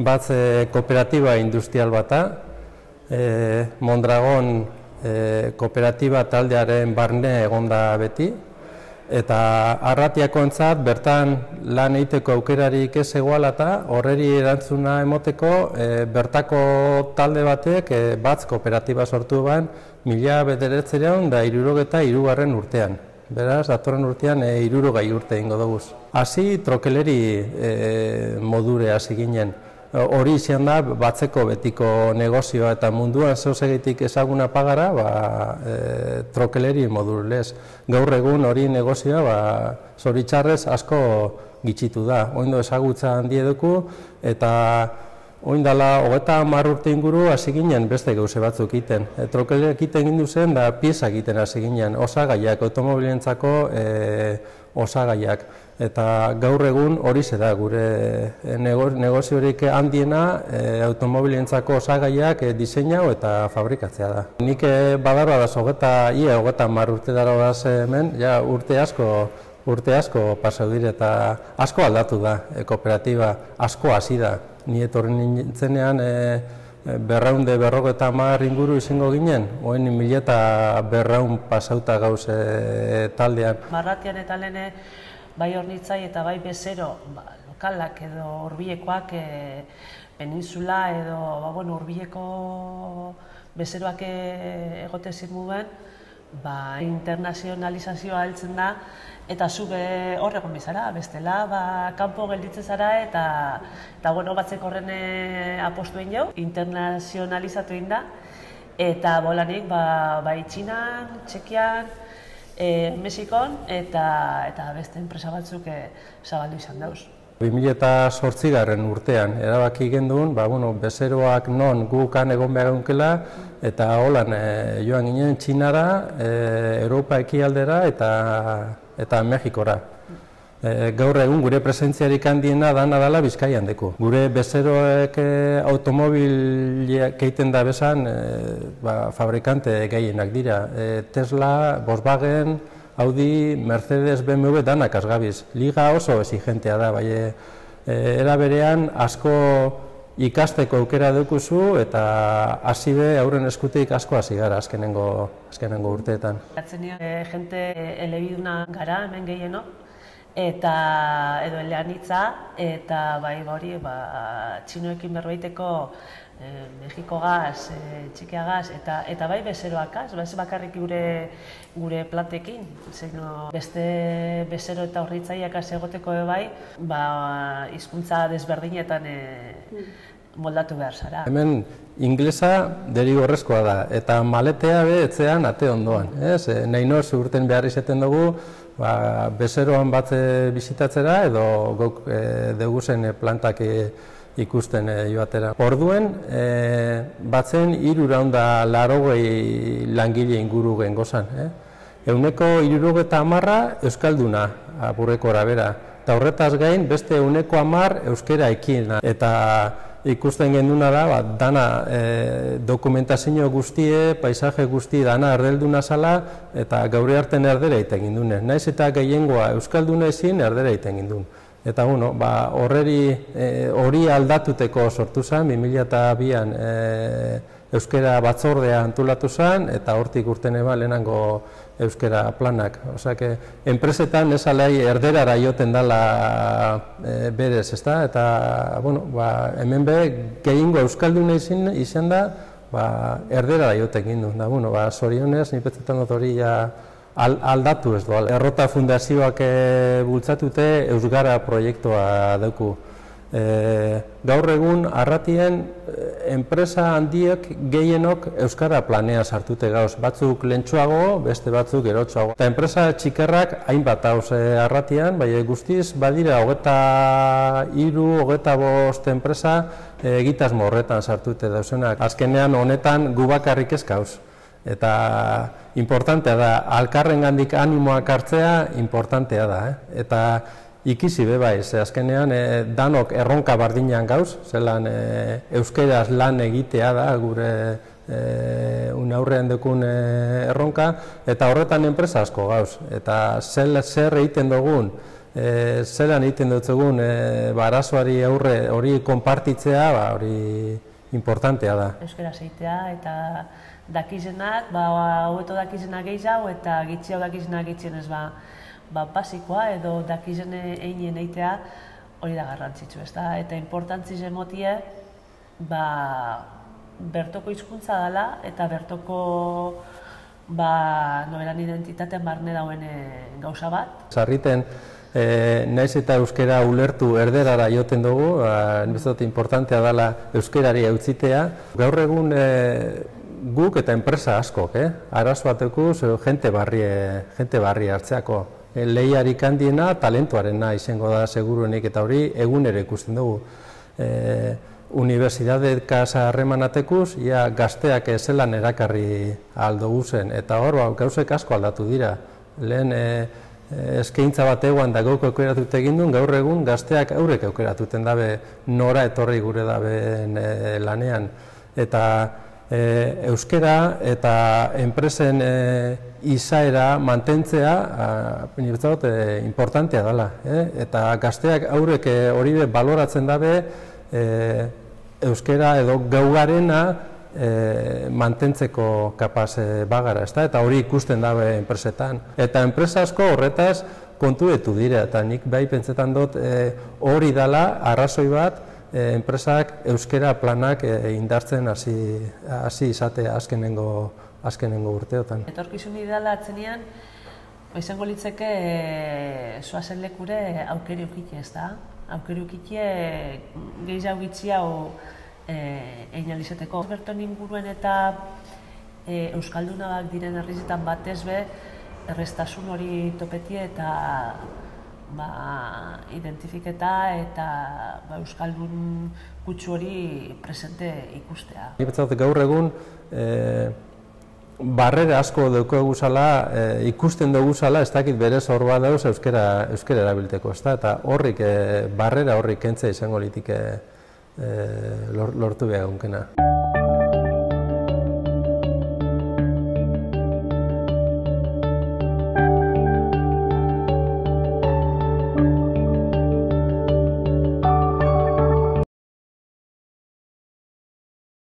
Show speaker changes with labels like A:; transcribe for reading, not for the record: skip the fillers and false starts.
A: Batz kooperatiba industrial bata, Mondragon kooperatiba taldearen barne egonda beti, eta Arratiakoentzat bertan lan egiteko aukerarik ez egoala eta horreri erantzuna emoteko bertako talde batek Batz kooperatiba sortu ban 1963 urtean. Beraz, datorren urtean 60 urte egingo dugu. Hasi trokeleri modure hasi ginen. Hori izan da Batzeko betiko negozioa eta munduan zeusegitik ezaguna pagara trokeleri modurlez. Gaur egun hori negozioa zoritxarrez asko gitxitu da. Oindo ezagutza handi eduku eta oindala 30 urte inguru hasi ginen beste gauze batzuk egiten. Trokeleriak egiten gindu zen da piezak egiten hasi ginen, osagaiak, automobilentzako osagaiak. Eta gaur egun hori da gure negoziorik handiena automobilentzako osagaiak diseinau eta fabrikatzea da. Nik badarra da 30 urte dara hemen, ja urte asko pasau dire eta asko aldatu da kooperatiba, asko hasi da. Ni etorri nintzenean 250 inguru izango ginen, oen 1200 pasauta gauz taldean.
B: Arratian eta lehene bai Hornitzai eta bai Bezero lokalak edo Hurbilekoak peninsula edo Hurbileko bezeroak egote zirmuen, internazionalizazioa heltzen da eta zu hor egon bizara, bestela kanpo gelditzen zara eta Batzek horren apostu egin jau, internazionalizatu egin da eta bolanik bai Txinan, Txekian, Mexikon eta beste enpresa batzuk zabaldu izan dauz.
A: 2008 urtean erabaki genduen, bezeroak non gukan egon behar egunkela eta holan joan ginen Txinara, Europa ekialdera eta Mexikora. Gaur egun gure presentziarik handiena dana dela Bizkaian deku. Gure bezeroek automobiliak egiten da bezan fabrikante gehienak dira. Tesla, Volkswagen, Audi, Mercedes, BMW danak asgabiz. Liga oso exigentea da, era berean asko ikasteko aukera dukuzu eta hasi be aurren eskutik asko hasi gara azkenengo urteetan.
B: Jente elebiduna gara hemen gehieno, eta edo eleanitza eta hori txinoekin berbaiteko Mexiko gaz, Txekia gaz eta bai bezeroakaz, ez bakarrik gure plantekin. Beste bezero eta Hornitzaiak egoteko bai, hizkuntza desberdinetan moldatu behar zara.
A: Hemen inglesa derigorrezkoa da eta maletea etzean ate ondoan. Nahi noz urten behar izaten dugu bezeroan bat bizitatzera edo gok deguzen plantak ikusten joatera. Orduen, batzen 380 langile inguru gengozan. Euneko 70 euskalduna apurreko arabera. Eta horretaz gain, beste euneko 10 euskera ekin. Eta ikusten genduna da, dana dokumentazio guztie, paisaje guzti dana erdelduna zala eta gaur artean erdera egiten gindune. Naiz eta gehiengoa euskalduna ezin erdera egiten gindun. Eta hori aldatuteko sortu zen, 2002an euskera batzordea antolatu zen eta hortik urten lehenango euskera planak. Osea, enpresetan ez alai erderara joten dela berez, ezta? Eta hemen gehiengo euskalduna izan da erderara joten gindun. Zorionez, nipetzetan dut hori aldatu ez doa. Errota Fundazioak bultzatute Eusgara proiektua dauku. Gaur egun Arratien enpresa handiek gehienok euskara planean sartute gauz. Batzuk lehentsuago, beste batzuk erotsuago. Eta enpresa txikerrak hainbat hauz Arratian, guztiz badira 23-25 enpresa egitasmo horretan sartute dauzenak. Azkenean honetan gu bakarrik ez gauz. Eta importantea da, alkarrengandik animoak hartzea importantea da. Eta ikisi bai, azkenean danok erronka bardinean gauz, zelan euskeraz lan egitea da gure aurrean dekun erronka, eta horretan enpresa asko gauz. Eta zer egiten dugun zelan egiten dutzegun arazoari aurre hori konpartitzea, hori importantea da.
B: Euskara zeitea eta dakizenak, hobeto dakizenak gehiago eta gitxiago dakizenak gitxienez basikoa edo dakizen einen eitea hori da garrantzitsu, ezta? Eta importantziz emotie bertoko hizkuntza dela eta bertoko nobelan identitatean barne dauen gauza bat.
A: Sarriten, naiz eta euskara ulertu erderara joten dugu, nire importantea dela euskarari eutzitea. Gaur egun guk eta enpresa askok, arazo batekuz jente barri hartzeako. Lehiarik handiena talentuarena izango da seguruenik eta hori egunero ikusten dugu. Unibertsitatez harremanatekuz, gazteak zelan erakarri aldugu zen, eta hor gauzek asko aldatu dira. Lehen eskaintza bat eguan da gauk aukeratut egin duen, gaur egun gazteak aurrek aukeratuten dabe nora etorri gure dabe lanean. Eta euskara eta enpresen izaera mantentzea importantea dela. Eta gazteak aurrek hori baloratzen dabe euskara edo gaugarena mantentzeko kapaz bagara, eta hori ikusten dabe enpresetan. Eta enpresa asko horretaz kontuetu dira, eta nik bai pentsetan dut hori dela arrazoi bat enpresak euskara planak indartzen hasi izatea azkenengo urteotan.
B: Etorkizun ideala atzenean, izango litzeke zoazen lekure aukeri ukite, ez da? Aukeri ukite gehiago gitxiago egin alizeteko. Berton inguruen eta euskaldunak diren herrizetan batez be, erreztasun hori topetie eta identifiketa eta euskaldun kutsu hori presente ikustea.
A: Gaur egun barrera asko daukagu zala, ikusten dugu zala, ez dakit berez hor bat dauz euskara erabilteko, eta horrik, barrera horrik kentzea izango litik lortu behar gunkena.